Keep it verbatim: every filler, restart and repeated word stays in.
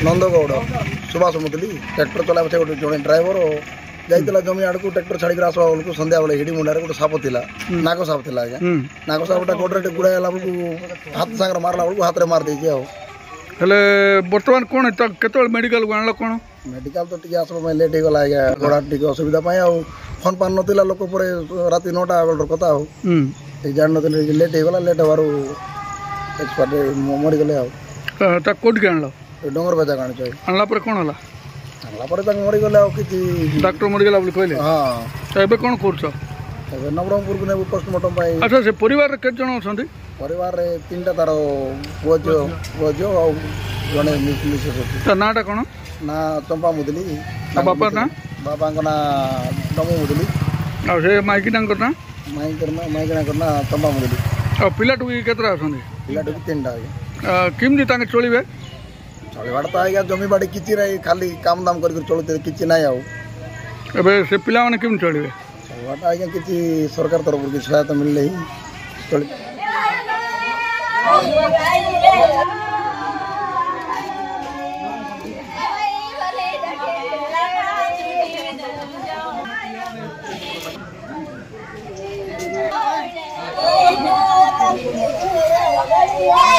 ନନ୍ଦଗୌଡ଼ ସୁବାସ Mudali tractor ଚଲାଇବା ସେ ଗୋଟେ ଜଣେ ଡ୍ରାଇଭର ଯାଇଥିଲା ଜମି ଆଡ଼କୁ ଟ୍ରାକ୍ଟର ଛାଡ଼ିକି ଆସିବା ବେଳକୁ ସନ୍ଧ୍ୟାବେଳେ ହିଡ଼ିମୁଣ୍ଡାରେ ଗୋଟେ ସାପ ଥିଲା ନାଗ ସାପ ଥିଲା ଆଜ୍ଞା ନାଗ ସାପଟା ଗୋଡ଼ରେ ଟିକେ ଗୁଡ଼ାଇ ହେଲା ବେଳକୁ ହାତ ସାଙ୍ଗରେ ମାରିଲା ବେଳକୁ ହାତରେ ମାରି ଦେଇଛି ଆଉ ହେଲେ ବର୍ତ୍ତମାନ କ'ଣ କେତେବେଳେ ମେଡ଼ିକାଲକୁ ଆଣିଲ କ'ଣ ମେଡ଼ିକାଲ ତ ଟିକେ ଆସିବା ପାଇଁ ଲେଟ୍ ହେଇଗଲା ଆଜ୍ଞା ଗୋଡ଼ ଟିକେ ଅସୁବିଧା ପାଇଁ ଆଉ ଫୋନ୍ ପାନ୍ ନଥିଲା ଲୋକ ପରେ ରାତି ନଅଟା ବେଳର କଥା ଆଉ ଜାଣିନଥିଲେ ଲେଟ୍ ହେଇଗଲା ଲେଟ୍ ହେବାରୁ ଏକ୍ସପାର୍ଟ ମରିଗଲେ ଆଉ ତାକୁ କୋଉଠିକି ଆଣିଲ ଡଙ୍ଗର ବେଜାକୁ ଆଣିଛୁ ଆଣିଲା ପରେ କ'ଣ ହେଲା ଆଣିଲା ପରେ ତାଙ୍କୁ ମରିଗଲେ ଆଉ କିଛି ଡାକ୍ତର ମରିଗଲା ବୋଲି କହିଲେ ହଁ ତ ଏବେ କ'ଣ କରୁଛ ଏବେ ନବରଙ୍ଗପୁରକୁ ନେବୁ ପୋଷ୍ଟମର୍ଟମ ପାଇଁ ଆଚ୍ଛା ସେ ପରିବାରରେ କେତେ ଜଣ ଅଛନ୍ତି ପରିବାରରେ ତିନିଟା ତାର ପୁଅ ଝିଅ ପୁଅ ଝିଅ ଆଉ ଜଣେ ମିସେସ୍ ଅଛି ତା ନାଁଟା କ'ଣ ନା ଚମ୍ପା ମୁଦଲି ତା ବାପା ନାଁ ବାପାଙ୍କ ନାଁ ଡମୁ ମୁଦଲି ଆଉ ସେ ମାଇକିନାଙ୍କର ନାଁ ମାଇଙ୍କର ନାଁ ମାଇକିନାଙ୍କର ନାଁ ଚମ୍ପା ମୁଦଲି ଆଉ ପିଲାଟୁକି କେତେଟା ଅଛନ୍ତି ପିଲାଟୁକି ତିନିଟା ଆଜ୍ଞା କେମିତି ତାଙ୍କେ ଚଳିବେ ଚଳିବାଟା ତ ଆଜ୍ଞା ଜମି ବାଡ଼ି କିଛି ନାହିଁ ଖାଲି କାମ ଦାମ କରିକି ଚଳୁଥିଲେ କିଛି ନାହିଁ ଆଉ ଏବେ ସେ ପିଲାମାନେ କେମିତି ଚଳିବେ ଚଳିବାଟା ଆଜ୍ଞା କିଛି ସରକାର ତରଫରୁ କିଛି ସହାୟତା ମିଳିଲେ ହିଁ ଚଳି Yeah.